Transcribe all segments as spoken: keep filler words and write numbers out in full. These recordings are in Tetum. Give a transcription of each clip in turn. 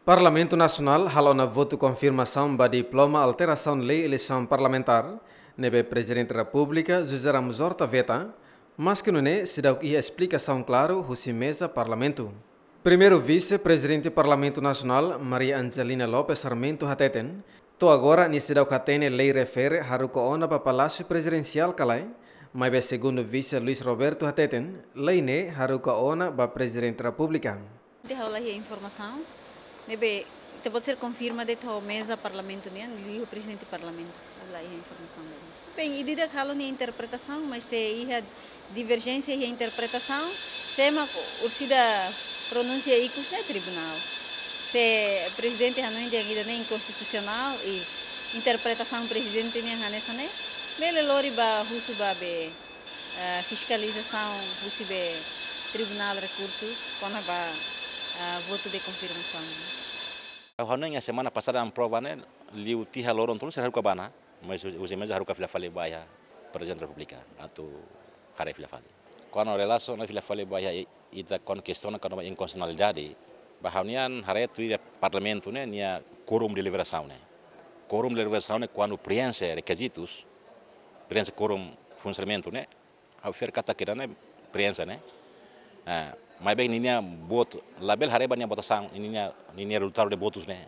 Parlamentu Nasionál halo ona votu konfirmasaun ba diploma alterasaun lei eleisaun parlamentár, ne'ebé Prezidente Repúblika José Ramos Horta veta, maske nune'e seidauk iha esplikasaun klaru husi meza Parlamentu. Primeiru Vise-Prezidente Parlamentu Nasionál, Maria Angelina Lopes Sarmento hateten, to'o agora nia seidauk hatene lei refere haruka ona ba Palásiu Prezidensiál ka lae, maibé segundu Vise Luis Roberto hateten, lei ne'e haruka ona ba Prezidente Repúblika. Ita ha'u la iha informasaun, ne'ebé ita-boot sira konfirma de'it ho meza Parlamentu nian, liu Prezidente Parlamentu, ha'u la iha informasaun lae. Bem, ida-idak halo nia interpretasaun, mas se iha diverjénsia iha interpretasaun, sé mak orsida pronúnsia ikus ne'e tribunál. Se Prezidente hanoin dehan ida-ne'e inkonstitusionál i interpretasaun Prezidente nian hanesan ne'e, bele lori ba husu ba be, eh, fiskalizasaun husi be Tribunál Rekursu kona-ba, eh, votu de konfirmasaun. Ha'u hanoin iha semana pasada aprova ne'e, liu tiha loron tolu sira haruka ba ona, mas husi, husi meza haruka fila fali ba iha Prezidente Repúblika atu haree fila fali. Kuandu relasiona fila fali ba iha i-, ita kuandu kestiona kona-ba inkonstitusionalidade, ba ha'u-nian haree tuir Parlamentu ne'e nia quorum de deliberasaun ne'e. Quorum de deliberasaun ne'e kuandu preenxe rekizitus, preenxe quorum funsionamentu ne'e, ha'u fiar katak ida-ne'e preenxe ne'e. Ah, maibé ninia votu, labele haree ba nia votasaun, ninia, ninia rezultadu de votus ne'e.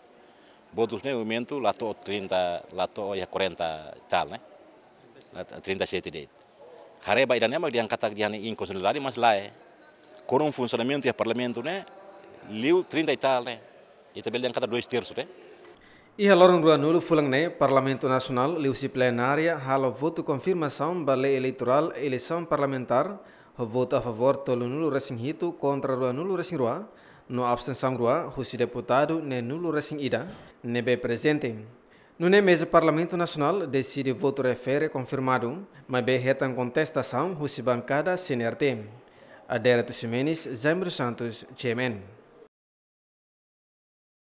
Votus ne'e momentu la to'o trinta, la to'o iha quarenta e tal ne'e. La to'o trinta e sete de'it. Haree ba ida-ne'e mak dehan katak dehan inkonstitusionalidade, mas lae. Quorum funsionamentu iha Parlamentu ne'e, liu trinta e tal ne'e. Ita bele dehan katak dois terços ne'e. Iha loron ruanulu fulan ne'e, Parlamentu Nasionál liuhusi plenária halo votu konfirmasaun ba lei eleitorál eleisaun parlamentár, ho votu a favór tolunulu resin hitu kontra ruanulu resin rua, no abstensaun rua husi deputadu neenulu resin ida ne'ebé prezente. Nune'e meza Parlamentu Nasionál deside votu refere konfirmadu, maibé hetan kontestasaun husi bankada C N R T. Adérito Ximenes, Jaime dos Santos, G M N.